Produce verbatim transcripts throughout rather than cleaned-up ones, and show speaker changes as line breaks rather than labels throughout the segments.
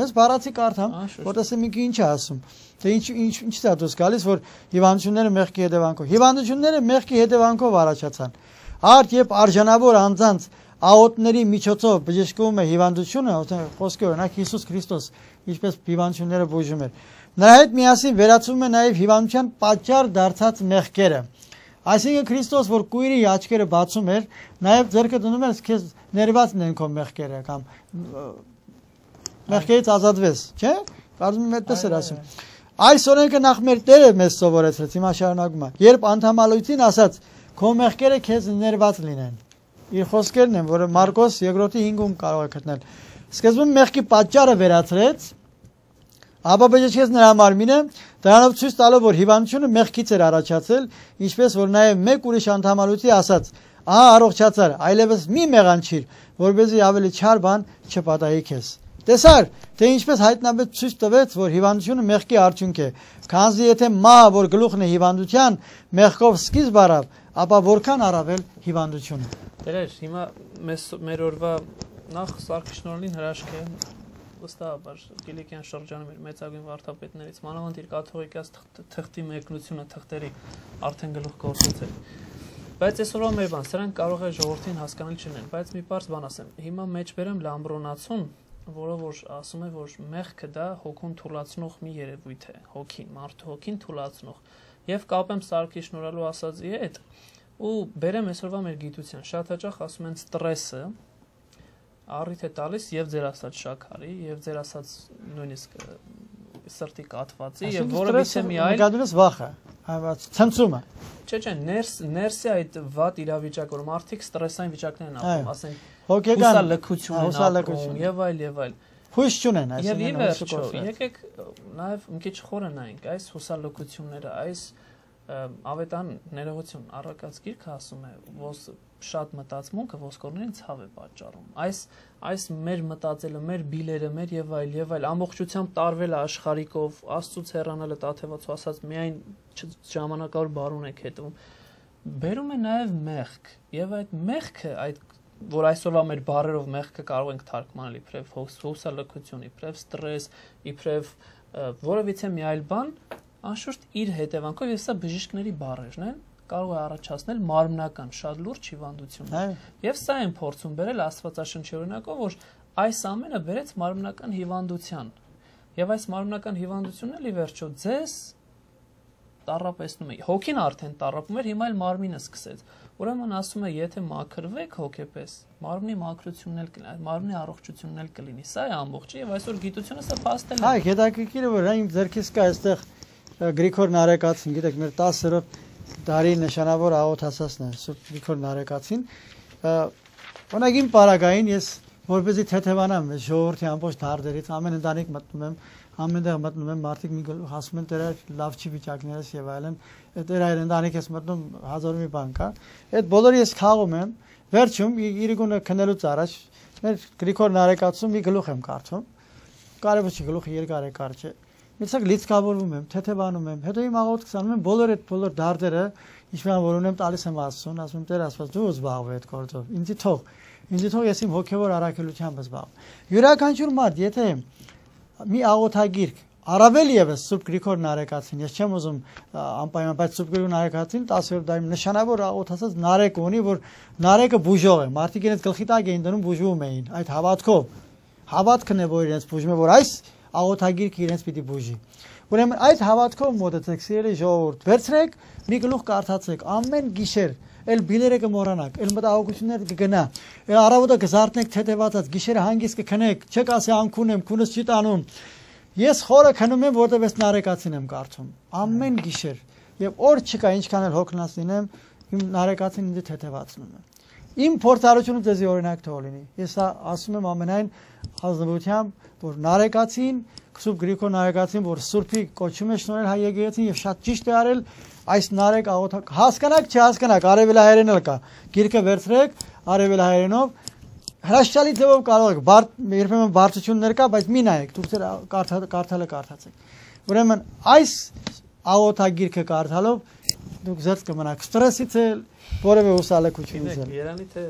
մեզ բառացի կարդամ, որտեսեմ ինքը ինչ է ասում։ Թե ինչ ինչ ինչ է դուրս գալիս, որ հիվանդությունները մեղքի հետևանքով։ Հիվանդությունները մեղքի հետևանքով առաջացան։ Արդ երբ արժանավոր անձանց աղոթների միջոցով բժշկվում է հիվանդությունը, խոսքը օրինակ Հիսուս Քրիստոս ինչպես հիվանդությունները բուժում էր։ Նրա հետ միասին վերացվում է նաև հիվանդության պատճառ դարձած մեղքերը։ Այսինքն Քրիստոս, որ կույրի աչքերը բացում էր, նաև ձեռքը դնում էր քեզ ներված նեն քո մեղքերը կամ մեղքերից ազատվես, չէ՞։ Կարծում եմ այդպես էր ասում։ Այս օրենքը նախ մեր Տերը մեզ սովորեցրեց, հիմա շարունակում է։ Երբ անդամալույցին ասաց, քո մեղքերը քեզ ներված լինեն։ Իր խոսքերն են, որը Մարկոս երկրորդի հինգում կարող է գտնել։ Սկզբում մեղքի պատճառը վերացրեց, ապա բժշկեց նրա մարմինը, դրանով ցույց տալով, որ հիվանդությունը մեղքից էր առաջացել, ինչպես որ նաև մեկ ուրիշ անդամալույցի ասաց. «Ահա առողջացար, այլևս մի մեղանչիր, որպեսզի ավելի չար բան չպատահի քեզ»։ Տեսար, թե ինչպես հայտնաբեդ ցույց տվեց, որ հիվանդությունը մեղքի արդյունք է, քանզի եթե մահը, որ գլուխն է հիվանդության, մեղքով սկիզբ առավ, ապա որքան առավել հիվանդությունը։
Տերեր, հիմա մեզ մեր օրվա նախ Սարգսնորին հրաշք է, վստահաբար Կիլիկյան շրջանում իր մեծագույն վարդապետներից, մանավանդ իր կաթողիկաց թղթի մեկնությունը թղթերի արդեն գլուխ գործեցել։ Բայց այսօրվա մեր բան, սրանք կարող է ժողովրդին հասկանալ չլինեն, բայց մի պարզ բան ասեմ, հիմա մեջ բերեմ Լամբրոնացուն, որը որ ասում է, որ մեղքը դա հոգուն թուլացնող մի երևույթ է, հոգին, մարդու հոգին թուլացնող, եւ կապեմ Սարգի շնորհալու ասածի հետ, ու բերեմ այսօրվա մեր գիտության, շատ հաճախ ասում են ստրեսը առիթ է տալիս եւ ձեր ասած շաքարի, եւ ձեր ասած նույնիսկ սրտի կաթվածի, եւ որովհետեւ մի այլ
նկատունս վախը, ցնցումը։
Չէ, չէ, ներս ներսի այդ վատ իրավիճակ, որ մարդիկ ստրեսային վիճակներ են ապրում, ասենք
հոգեկան
հուսալքություն եւ այլ եւ այլ։
Հույս չունեն,
այսինքն վերջո, եկեք նաեւ մի քիչ խորը նայենք այս հուսալքությունները, այս ավետան ներողություն առակած գիրքը ասում է, որ շատ մտածմունքը ոսկորներին ցավ է պատճառում։ Այս այս մեր մտածելը, մեր բիլերը, մեր եւ այլ եւ այլ ամբողջությամբ տարվել աշխարհիկով, Աստծուց հեռանալը տաթևացու ասած միայն ժամանակավոր բարուն եք հետևում։ Բերում է նաեւ մեղք, եւ այդ մեղքը, այդ որ այսօրվա մեր բառերով մեղքը կարող ենք թարգմանել իբրև հուսալքություն, իբրև ստրես, իբրև որևիցե մի այլ բան, անշուշտ իր հետևանքով եւ սա բժիշկների բառերն են, կարող է առաջացնել մարմնական շատ լուրջ հիվանդություններ։ Եվ սա են փորձում բերել Աստվածաշնչի օրինակով, որ այս ամենը բերեց մարմնական հիվանդության։ Եվ այս մարմնական հիվանդությունն էլ ի վերջո ձեզ տառապեցնում է։ Հոգին արդեն տառապում էր, հիմա էլ մարմինը սկսեց։ Ուրեմն ասում է, եթե մաքրվեք հոգեպես, մարմնի մաքրությունն էլ կլինի, մարմնի առողջությունն էլ կլինի։ Սա է ամբողջը եւ այսօր գիտությունը սա փաստել է։
Հայ, հետաքրքիր է, որ այն ձերքից կա այստեղ Գրիգոր Նարեկացին, գիտեք, մեր տասերորդ դարի նշանավոր աղոթասացն է, Սուրբ Գրիգոր Նարեկացին։ Օրինակ իմ պարագային ես որպեսզի թեթևանամ ժողովրդի ամբողջ դարդերից, ամեն ընտանիք մտնում եմ, ամենտեղ մտնում եմ, մարդիկ մի գլուխ ասում են դրա լավ չի վիճակներս եւ այլն, դրա այդ ընտանիք ես մտնում հազար մի բան կա։ Այդ բոլորը ես խաղում եմ, վերջում իրիկունը քնելուց առաջ մեր Գրիգոր Նարեկացում մի գլուխ եմ կարդում։ Կարևոր չի գլուխը երկար է կարճ է։ Միցակ լիցքավորվում եմ, թեթևանում եմ, հետո իմ աղոթք սանում եմ բոլոր այդ բոլոր դարդերը, ինչպես որ ունեմ տալիս եմ Աստծուն, ասում եմ Տեր Աստված, դու զբաղվի այդ գործով, ինձ թող, ինձ թող ես իմ հոգևոր առաքելությամբ զբաղվեմ։ Յուրաքանչյուր մարդ, եթե մի աղոթագիրք, առավել եւս Սուրբ Գրիգոր Նարեկացին, ես չեմ ուզում անպայման, բայց Սուրբ Գրիգոր Նարեկացին տասերորդ դարի նշանավոր աղոթասած Նարեկ ունի, որ Նարեկը բուժող է, մարդիկ իրենց գլխի տակ էին դնում, բուժվում էին, այդ հավատքով, հավատքն է, որ իրենց բուժում է, որ այս աղոթագիրքը իրենց պիտի բուժի։ Ուրեմն այդ հավատքով մոտեցեք, սիրելի ժողովուրդ, վերցրեք, մի գլուխ կարդացեք, ամեն գիշեր, էլ բիլերը կմոռանաք, էլ մտահոգությունները կգնա, էլ առավոտը կզարթնեք թեթևացած, գիշերը հանգիստ կքնեք, չեք ասի անքուն եմ, քունս չի տանում։ Ես խորը քնում եմ, որտեղ ես Նարեկացին եմ կարդում, ամեն գիշեր, եւ օր չկա ինչքան էլ հոգնած լինեմ, իմ Նարեկացին ինձ թեթևացնում է։ Իմ փորձառությունը ձեզի օրինակ թող լինի։ Ես ասում եմ ամենայն ազնվությամբ, որ Նարեկացին, Սուրբ Գրիգոր Նարեկացին, որ Սուրբի կոչում է շնորհել հայ եկեղեցին եւ շատ ճիշտ է արել, այս Նարեկ աղոթակ հասկանաք, չհասկանաք, արևելահայերեն էլ կա։ Գիրքը վերցրեք արևելահայերենով, հրաշալի ձևով կարող եք, երբեմն բարձություններ կա, բայց մի նայեք, դուք ձեր կարդալը կարդացեք։ Ուրեմն այս աղոթագիրքը կարդալով դուք զերծ կմնաք ստրեսից էլ, որևէ հուսալքությունից էլ։
Երանի թե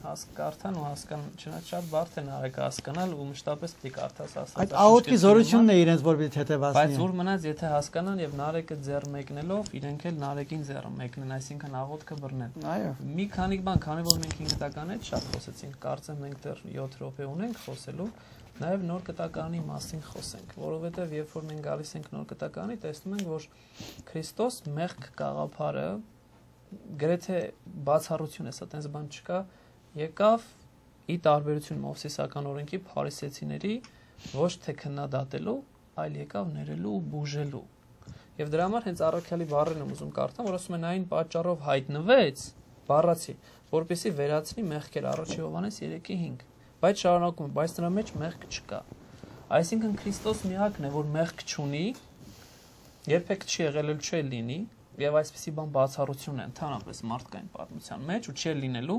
հասկարթան ու հասկան, չնայած շատ բարդ է նարեկը հասկանալ ու մշտապես պիտի կարդաս ասած։
Այդ աղոթքի զորությունն է իրենց որ պիտի թեթևացնի։
Բայց ուր մնաց, եթե հասկանան եւ նարեկը ձեռ մեկնելով, իրենք էլ նարեկին ձեռ մեկնեն, այսինքն աղոթքը բռնեն։
Այո։
Մի քանի բան, քանի որ մենք հինգ կտականից շատ խոսեցինք, կարծեմ մենք դեռ յոթ րոպե ունենք խոսելու, նաեւ նոր կտականի մասին խոսենք, որովհետեւ երբ որ մենք գալիս ենք նոր կտականի, տեսնում ենք, որ Քրիստոս մեղք գաղափարը գրեթե բացառություն է, սա տենց բան չկա, եկավ ի տարբերություն Մովսեսական օրենքի փարիսեցիների ոչ թե քննադատելու, այլ եկավ ներելու ու բուժելու։ Եվ դրա համար հենց առաքյալի բառերն եմ ուզում կարդամ, որ ասում են այն պատճառով հայտնվեց, բառացի, որպեսզի վերացնի մեղքեր, առաջի Հովհաննես երեքի հինգ, բայց շարունակում, բայց նրա մեջ մեղք չկա։ Այսինքն Քրիստոս միակն է, որ մեղք չունի, երբեք չի եղել ու չի լինի, եւ այսպեսի բան բացառություն է ընդհանրապես մարդկային պատմության մեջ ու չի լինելու,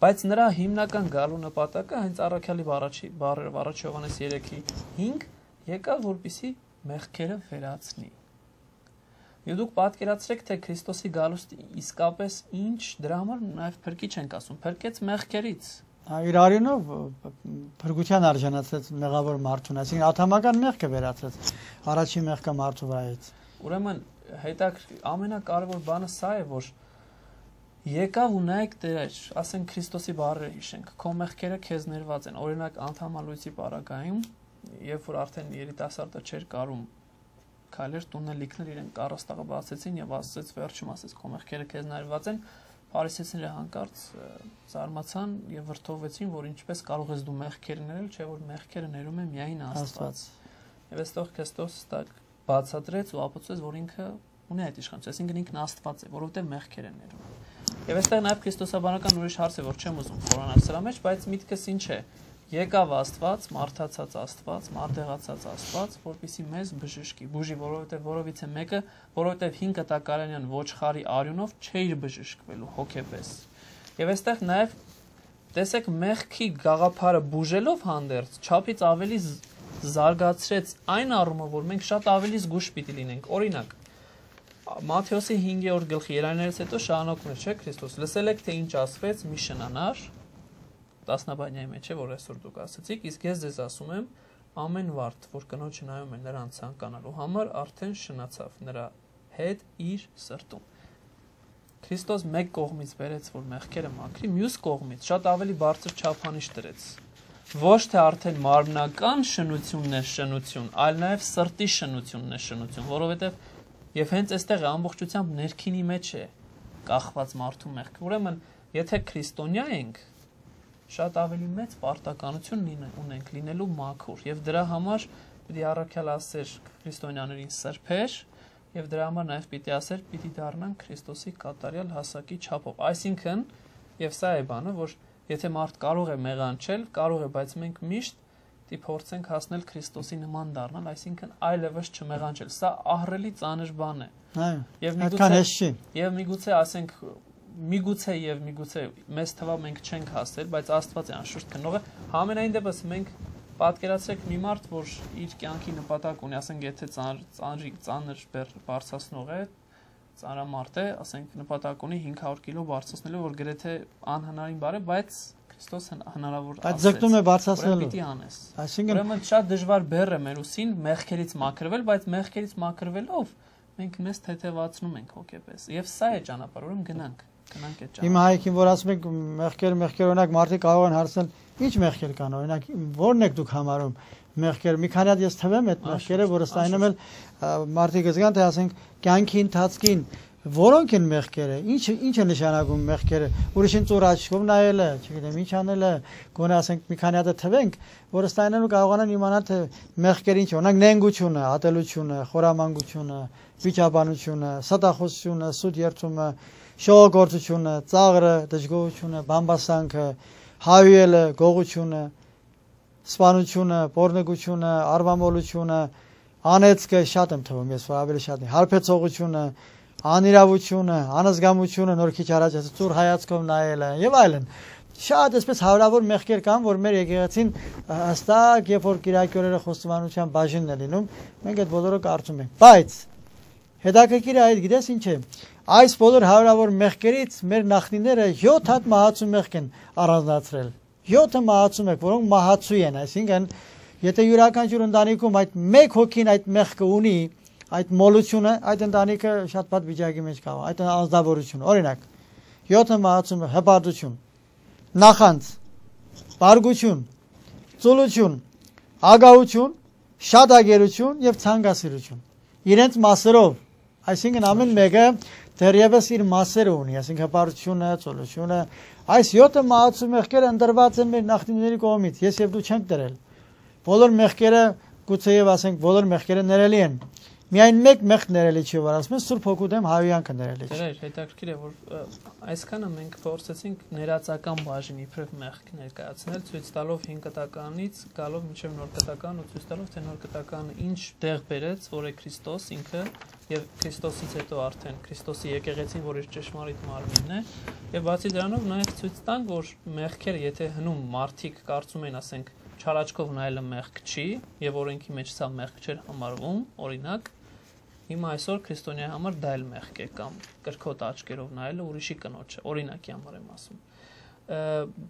բայց նրա հիմնական գալու նպատակը հենց առաքյալի առաջի բառերը առաջի Հովհաննես երեքի հինգ եկավ որպեսի մեղքերը վերացնի։ Եվ դուք պատկերացրեք, թե Քրիստոսի գալուստը իսկապես ինչ, դրա համար նաեւ փրկիչ ենք ասում, փրկեց մեղքերից։
Իր արյունով փրկության արժանացրեց մեղավոր մարդուն, այսինքն աթամական մեղքը վերացրեց առաջի մեղքը մարդու վրայից։
Ուրեմն հետաքրքիր ամենակարևոր բանը սա է, որ եկավ ու նայեք Տեր, ասենք Քրիստոսի բառերը հիշենք, քո մեղքերը քեզ ներված են, օրինակ անդամալույցի պարագայում, երբ որ արդեն երիտասարդը չէր կարում քայլեր տունը լիքներ իրեն կառաստաղը բացեցին եւ ասացեց վերջում ասեց քո մեղքերը քեզ ներված են, փարիսեցիները հանկարծ զարմացան եւ վրդովվեցին, որ ինչպես կարող ես դու մեղքեր ներել, չէ որ մեղքերը ներում է միայն Աստված։ Եվ այստեղ Քրիստոս տակ բացատրեց ու ապացուցեց, որ ինքը ունի այդ իշխանությունը, այսինքն ինքն Աստված է, որովհետև մեղքեր են ներում։ Եվ այստեղ նաև քրիստոսաբանական ուրիշ հարց է, որ չեմ ուզում խորանալ սրա մեջ, բայց միտքս ինչ է։ Եկավ Աստված, մարդացած Աստված, մարդեղացած Աստված, որպեսզի մեզ բժշկի, բուժի, որովհետև որովից է մեկը, որովհետև հինգ կտակարանյան ոչխարի արյունով չէր բժշկվելու հոգեպես։ Եվ այստեղ նաև տեսեք մեղքի գաղափարը բուժելով հանդերձ, չափից ավելի զարգացրեց այն առումով, որ մենք շատ ավելի զգուշ պիտի լինենք։ Օրինակ, Մատթեոսի հինգերորդ գլխի երաններից հետո շարունակում է, չէ՞, Քրիստոս, լսել եք, թե ինչ ասվեց մի շնանար, տասնաբանյայի մեջ է, որ այսօր դուք ասացիք, իսկ ես ձեզ ասում եմ, ամեն վարդ, որ կնոջը նայում է նրան ցանկանալու համար, արդեն շնացավ նրա հետ իր սրտում։ Քրիստոս մեկ կողմից բերեց, որ մեղքերը մաքրի, մյուս կողմից շատ ավելի բարձր չափանիշ դրեց։ Ոչ թե արդեն մարմնական շնությունն է շնություն, այլ նաև սրտի շնությունն է շնություն, որովհետև եւ հենց այստեղ է ամբողջությամբ ներքինի մեջ է կախված մարդու մեղքը։ Ուրեմն, եթե քրիստոնյա ենք, շատ ավելի մեծ պարտականություն ունենք լինելու մաքուր եւ դրա համար պիտի առաքյալ ասեր քրիստոնյաներին սրբեր եւ դրա համար նաեւ պիտի ասեր պիտի դառնան Քրիստոսի կատարյալ հասակի չափով։ Այսինքն, եւ սա է բանը, որ եթե մարդ կարող է մեղանչել, կարող է, բայց մենք միշտ պիտի փորձենք հասնել Քրիստոսի նման դառնալ, այսինքն այլևս չմեղանչել։ Սա ահռելի ծանր բան է։
Այո։
Եվ միգուցե եւ միգուցե ասենք միգուցե եւ միգուցե մեզ թվա մենք չենք հասել, բայց Աստված է անշուշտ քննողը։ Համենայն դեպս մենք պատկերացրեք մի մարդ, որ իր կյանքի նպատակ ունի, ասենք եթե ծանր ծանրի ծանր բարձրացնող է, ծանրամարդ է, ասենք նպատակ ունի հինգ հարյուր կիլո բարձրացնելու, որ գրեթե անհնարին բառ է, բայց Քրիստոս հնարավոր ասեց։
Բայց ձգտում է բարձրացնելու։
Պիտի անես։
Այսինքն
ուրեմն շատ դժվար բեռ է մեր ուսին մեղքերից մաքրվել, բայց մեղքերից մաքրվելով մենք մեզ թեթևացնում ենք հոգեպես։ Եվ սա է ճանապարհը, ուրեմն գնանք, գնանք այդ ճանապարհը։
Իմ հայրիկին որ ասում եք մեղքեր, մեղքեր օրինակ մարդիկ կարող են հարցնել, ի՞նչ մեղքեր կան, օրինակ ո՞րն եք դուք համարում մեղքեր։ Մի քանի հատ ես թվեմ այդ մեղքերը, որ ըստայինում էլ մարդիկ զգան, թե ասենք կյանքի ընթացքին որոնք են մեղքերը, ինչ ինչ է նշանակում մեղքերը, ուրիշին ծուր աչքով նայելը, չգիտեմ ինչ անելը, գոնե ասենք մի քանի հատ թվենք, որ ըստայինելու կարողանան իմանալ թե մեղքերը ինչ, օրինակ նենգությունը, ատելությունը, խորամանկությունը, վիճաբանությունը, սատախոսությունը, սուտ երթումը, շողոքորթությունը, ծաղրը, դժգոհությունը, բամբասանքը, հավելը, գողությունը, սպանությունը, պոռնոգությունը, արվամոլությունը, անեծքը, շատ եմ թվում, ես ավելի շատ եմ, հարբեցողությունը, անիրավությունը, անզգամությունը, նոր քիչ առաջ ծուր հայացքով նայելը եւ այլն։ Շատ այսպես հարյուրավոր մեղքեր կան, որ մեր եկեղեցին հստակ, երբ որ կիրակի օրերը խոստովանության բաժինն է լինում, մենք այդ բոլորը կարծում ենք։ Բայց հետաքրքիրը այդ գիտես ինչ է։ Այս բոլոր հարյուրավոր մեղքերից մեր նախնիները յոթ հատ մահացու մեղք են առանձնացրել։ յոթը մահացու մեղք, որոնք մահացու են, այսինքն եթե յուրաքանչյուր ընտանիքում այդ մեկ հոգին այդ մեղքը ունի, այդ մոլությունը, այդ ընտանիքը շատ բադ վիճակի մեջ կա, այդ անձնավորություն, օրինակ, յոթը մահացու մեղք, հպարտություն, նախանձ, բարգություն, ծուլություն, ագահություն, շատագերություն եւ ցանկասիրություն։ Իրենց մասերով, այսինքն ամեն մեկը դեռևս իր մասերը ունի, այսինքն հպարտությունը, ծուլությունը, այս յոթը մահացու մեղքերը ընտրված են մեր նախնիների կողմից, ես եւ դու չենք դրել։ Բոլոր մեղքերը գուցեև ասենք բոլոր մեղքերը ներելի են։ Միայն մեկ մեղք ներելի չի, որ ասում են Սուրբ Հոգու դեմ հավյանքը ներելի չի։
Դե հետաքրքիր է, որ այսքանը մենք փորձեցինք ներածական բաժին իբրև մեղք ներկայացնել, ցույց տալով հին կտականից գալով մինչև նոր կտական ու ցույց տալով թե նոր կտականը ինչ տեղ բերեց, որ է Քրիստոս ինքը եւ Քրիստոսից հետո արդեն Քրիստոսի եկեղեցին, որ իր ճշմարիտ մարմինն է, եւ բացի դրանով նաեւ ցույց տանք, որ մեղքերը, եթե հնում մարդիկ կարծում են, ասենք, չարաչքով նայելը մեղք չի եւ օրենքի մեջ սա մեղք չէր համարվում, օրինակ, հիմա այսօր քրիստոնյայի համար դա էլ մեղք է կամ կրքոտ աչքերով նայելը ուրիշի կնոջը, օրինակի համար եմ ասում։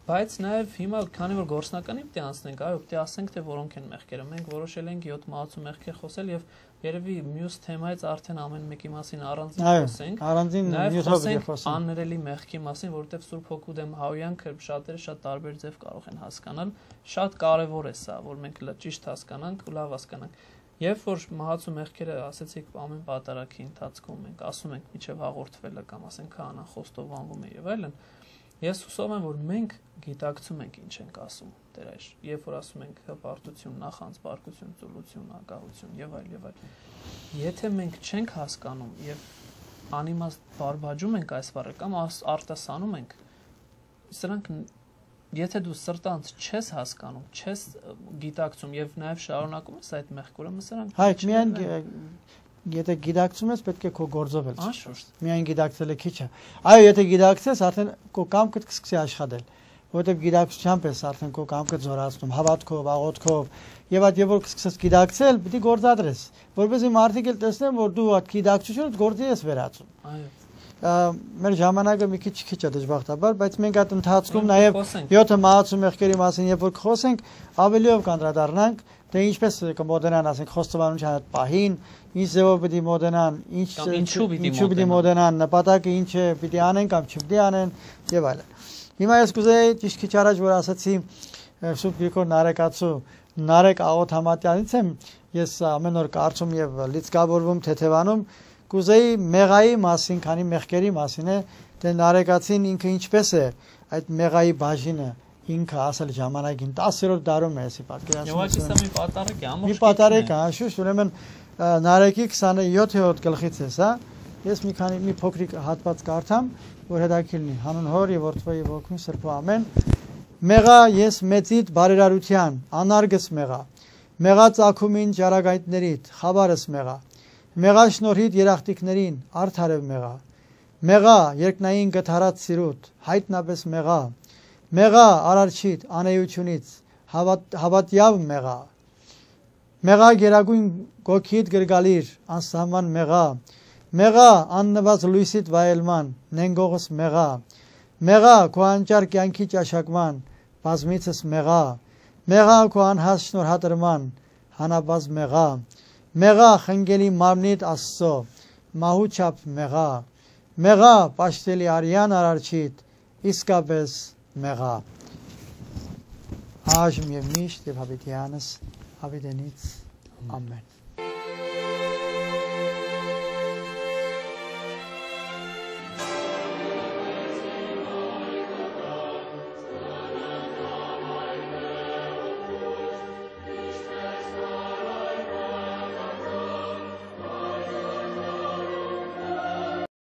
Բայց նաեւ հիմա քանի որ գործնականի պետք է անցնենք, այո, պետք է ասենք թե որոնք են մեղքերը։ Մենք որոշել ենք յոթ մահացու մեղքեր խոսել եւ երևի մյուս թեմայից արդեն ամեն մեկի մասին առանձին խոսենք։
Առանձին նյութով ենք խոսում։
Աններելի մեղքի մասին, որովհետեւ Սուրբ Հոգու դեմ հավյանքը շատերը շատ տարբեր ձև կարող են հասկանալ։ Շատ կարեւոր է սա, որ մենք ճիշտ հասկանանք ու լավ հասկանանք։ Երբ որ մահացու մեղքերը ասեցիք ամեն պատարագի ընթացքում մենք ասում ենք միջև հաղորդվելը կամ ասենք քահանան խոստովանվում է եւ այլն, ես հուսով եմ որ մենք գիտակցում ենք ինչ ենք ասում Տեր, երբ որ ասում ենք հպարտություն, նախանձ, բարկություն, ծուլություն, ագահություն եւ այլ եւ այլ։ Եթե մենք չենք հասկանում եւ անիմաստ բարբաջում ենք այս բառը կամ արտասանում ենք, սրանք եթե դու սրտանց չես հասկանում, չես գիտակցում եւ նաեւ շարունակում ես այդ մեղքը, ուրեմն սրանք
Հայ, միայն եթե գիտակցում ես, պետք է քո գործով էլ։
Անշուշտ։
Միայն գիտակցելը քիչ է։ Այո, եթե գիտակցես, արդեն քո կամքը կսկսի աշխատել, որովհետեւ գիտակցությամբ ես արդեն քո կամքը զորացնում, հավատքով, աղոթքով, եւ այդ եւ որ կսկսես գիտակցել, պետք է գործադրես, որովհետեւ մարդիկ էլ տեսնեն, որ դու այդ գիտակցությունը գործի ես վերածում։
Այո։
Մեր ժամանակը մի քիչ քիչ է դժբախտաբար, բայց մենք այդ ընթացքում նաև յոթը մահացու մեղքերի մասին երբ որ խոսենք, ավելիով կանդրադառնանք, թե ինչպես կմոդենան, ասենք, խոստովանության այդ պահին, ինչ ձևով պիտի մոդենան, ինչ ինչու պիտի մոդենան, նպատակը ինչ է, պիտի անեն կամ չպիտի անեն եւ այլն։ Հիմա ես կուզեի ճիշտ քիչ առաջ որ ասացի Սուրբ Գրիգոր Նարեկացու Նարեկ Աղոտ Համատյանից եմ, ես ամեն օր կարծում եւ լիցքավորվում թեթևանում Կուզեի մեղայի մասին, քանի մեղքերի մասին է, թե Նարեկացին ինքը ինչպես է այդ մեղայի բաժինը ինքը ասել ժամանակին տասերորդ դարում է, էսի պատկերացնում։
Եվ այս մի պատարակ է, ամբողջ։
Մի պատարակ է, շուտ, ուրեմն Նարեկի քսաներորդ գլխից է սա։ Ես մի քանի մի փոքրիկ հատված կարդամ, որ հետաքրքիր լինի։ Հանուն Հոր եւ Որդու եւ Ոգու Սրբու ամեն։ Մեղա ես մեծիդ բարերարության, անարգս մեղա։ Մեղա ծագումին ճարագայթներիդ, խաբարս մեղա։ Մեղա շնորհիդ երախտիկներին, արդարև մեղա։ Մեղա երկնային գթարած սիրուտ, հայտնաբես մեղա։ Մեղա արարչիդ անեյությունից, հավատյավ մեղա։ Մեղա գերագույն գոքիդ գրգալիր, անսահման մեղա։ Մեղա աննված լույսիդ վայելման, նենգողս մեղա։ Մեղա քո անճար կյանքի ճաշակման, բազմիցս մեղա։ Մեղա քո անհաս շնորհատրման, հանաբազ մեղա։ Մեղա խնգելի մարմնիդ Աստծո, մահու չափ մեղա։ Մեղա պաշտելի արյան արարչիդ, իսկապես մեղա։ Այժմ եւ միշտ եւ հավիտյանս հավիտենից ամեն։